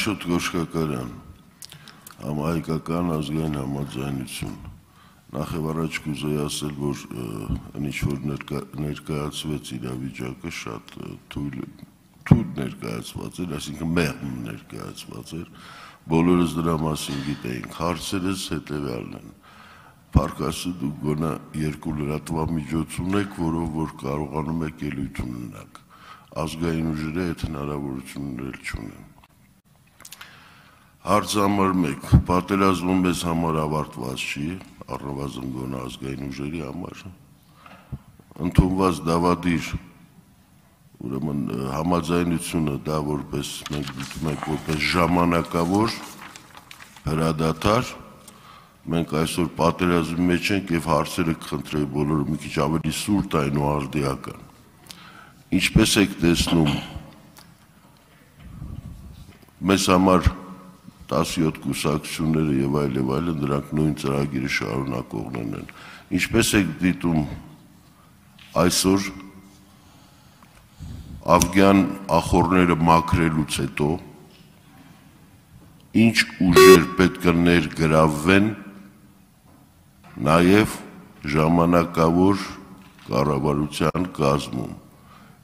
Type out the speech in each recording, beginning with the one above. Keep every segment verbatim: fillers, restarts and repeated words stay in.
Աշոտ Գոշկակարյան, համահայկական ազգային համաձայնություն։ Նախ եւ առաջ կուզեի ասել, որ ինչ որ ներկայացվեց իրավիճակը շատ թույլ ներկայացված էր, այսինքն մեղմ ներկայացված էր, բոլորս դրա մասին գիտեինք, հարցերս հետեւյալն են։ Փառք դուք գոնե երկու լրատվամիջոց ունեք, որով որ կարողանում եք ելույթ ունենալ։ Ազգային ուժերը այդ հնարավորությունները չունեն։ Հարց համար մեկ, պատերազմը մեզ համար ավարտված չի, առնվազն գոնե ազգային ուժերի համար։ Ընդունված դավադիր, ուրեմն համաձայնությունը դա որպես մենք դիտում ենք որպես ժամանակավոր հրադադար, մենք այսօր պատերազմի մեջ ենք եւ հարցերը կխնդրեի բոլորը մի քիչ ավելի սուրտ այն ու արդիական։ Ինչպես եք տեսնում մեզ համար տասնյոթ կուսակցությունները եւ այլ եւ այլն դրանք նույն ծրագիրը շարունակողներն են։ Ինչպես եք դիտում այսօր Աֆգան ախորները մաքրելուց հետո ինչ ուժեր պետք է ներգրավվեն նաեւ ժամանակավոր կառավարության կազմում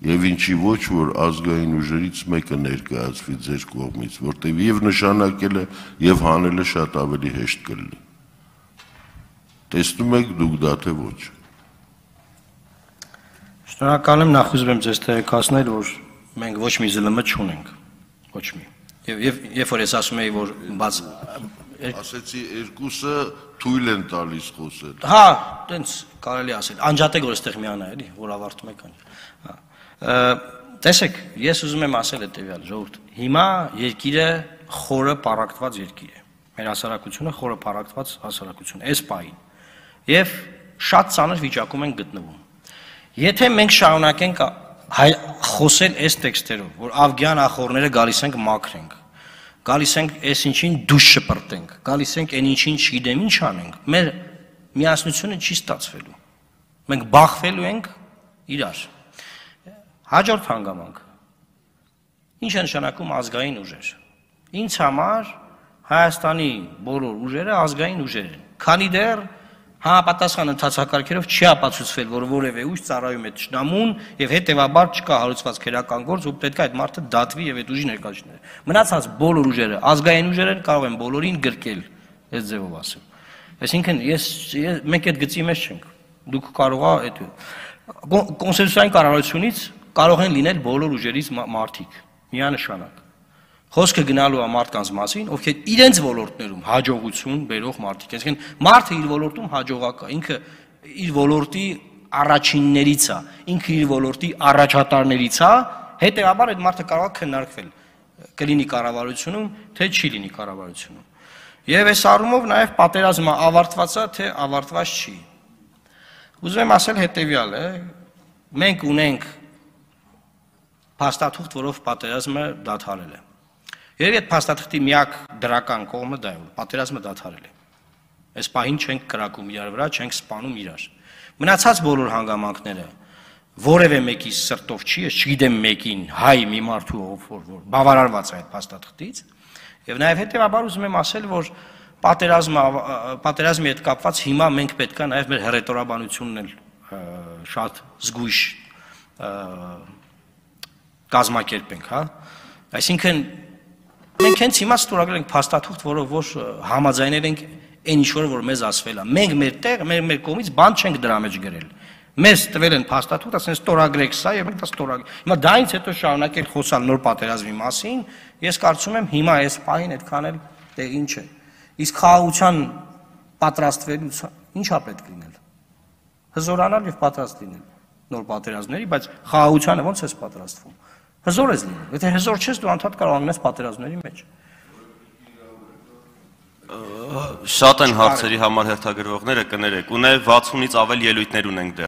եւ ինչի ոչ որ ազգային ուժերից մեկը ներկայացվի ձեր կողմից, որտեղ եւ նշանակելը եւ հանելը շատ ավելի հեշտ կլինի։ Տեսնում եք դուք դա թե ոչ։ Շնորհակալ եմ, նախ ուզում եմ ձեզ տեղեկացնել, որ մենք ոչ մի զլմ չունենք, ոչ մի։ Եվ երբ որ ես ասում եի, որ բաց ասեցի երկուսը թույլ են տալիս խոսել։ Հա, տենց կարելի ասել։ Անջատեք որ այստեղ միանա, էլի, որ ավարտում եք ան։ Տեսեք, ես ուզում եմ ասել հետևյալ, ժողովուրդ, հիմա երկիրը խորը պառակտված երկիր է։ Մեր հասարակությունը խորը պառակտված հասարակություն է, այս պահին։ Եվ շատ ծանր վիճակում են գտնվում։ Եթե մենք շարունակենք խոսել այս տեքստերով, որ աֆգան ախորները գալիս ենք մաքրենք, գալիս ենք այս ինչին դուշ շպրտենք, գալիս ենք այն ինչին չգիտեմ ինչ անենք, մեր միասնությունը չի ստացվելու։ Մենք բախվելու ենք իրար։ Հաջորդ հանգամանք։ Ինչ է նշանակում ազգային ուժեր։ Ինձ համար Հայաստանի բոլոր ուժերը ազգային ուժեր են։ Քանի դեռ համապատասխան ընթացակարգերով չի ապացուցվել, որ որևէ ուժ ծառայում է ճշնամուն եւ հետեւաբար չկա հարուցված քերական գործ, ու պետք է այդ մարդը դատվի եւ այդ ուժի ներկայացնի։ Մնացած բոլոր ուժերը ազգային ուժեր են, կարող են բոլորին գրկել, այս ձևով ասեմ։ Այսինքն ես մենք այդ գծի մեջ չենք։ Դուք կարող եք այդ կոնսենսուսային կառավարությունից կարող են լինել բոլոր ուժերից մարդիկ, միանշանակ։ Խոսքը գնալու է մարդկանց մասին, ովքեր իրենց ոլորտներում հաջողություն բերող մարդիկ են։ Այսինքն մարդը իր ոլորտում հաջողակ է, ինքը իր ոլորտի առաջիններից է, ինքը իր ոլորտի առաջատարներից է, հետեւաբար այդ մարդը կարող է քննարկվել կլինի կառավարությունում, թե չի լինի կառավարությունում։ Եվ այս առումով նաև պատերազմը ավարտված է, թե ավարտված չի։ Ուզում եմ ասել հետևյալը, մենք ունենք փաստաթուղթ, որով պատերազմը դադարել է։ Երևի այդ փաստաթղթի միակ դրական կողմը դա է, որ պատերազմը դադարել է։ Այս պահին չենք կրակում իրար վրա, չենք սպանում իրար։ Մնացած բոլոր հանգամանքները որևէ մեկի սրտով չի, ես չգիտեմ մեկին, հայ մի մարդու ով որ բավարարված է այդ փաստաթղթից, եւ նաեւ հետեւաբար ուզում եմ ասել, որ պատերազմը պատերազմի հետ կապված հիմա մենք պետք է նաեւ մեր հռետորաբանությունն էլ շատ զգույշ կազմակերպենք, հա։ Այսինքն մենք հենց հիմա ստորագրել ենք փաստաթուղթ, որով որ համաձայնել ենք այն ինչ որ մեզ ասվել է։ Մենք մեր տեղ, մեր մեր կողմից բան չենք դրա մեջ գրել։ Մեզ տվել են փաստաթուղթ, ասեն ստորագրեք սա եւ մենք դա ստորագրենք։ Հիմա դրանից հետո շարունակել խոսալ նոր պատերազմի մասին, ես կարծում եմ հիմա այս պահին այդքան էլ տեղին չէ։ Իսկ խաղաղության պատրաստվելուց ի՞նչա պետք լինել։ Հզորանալ եւ պատրաստ լինել նոր պատերազմների, բայց խաղաղությանը ո՞նց է պատրաստվում։ Հզոր ես լինում։ Եթե հզոր չես, դու անդադ կարող անես պատերազմների մեջ։ Շատ են հարցերի համար հերթագրվողները կներեք, ունե վաթսունից ավել ելույթներ ունենք դեռ։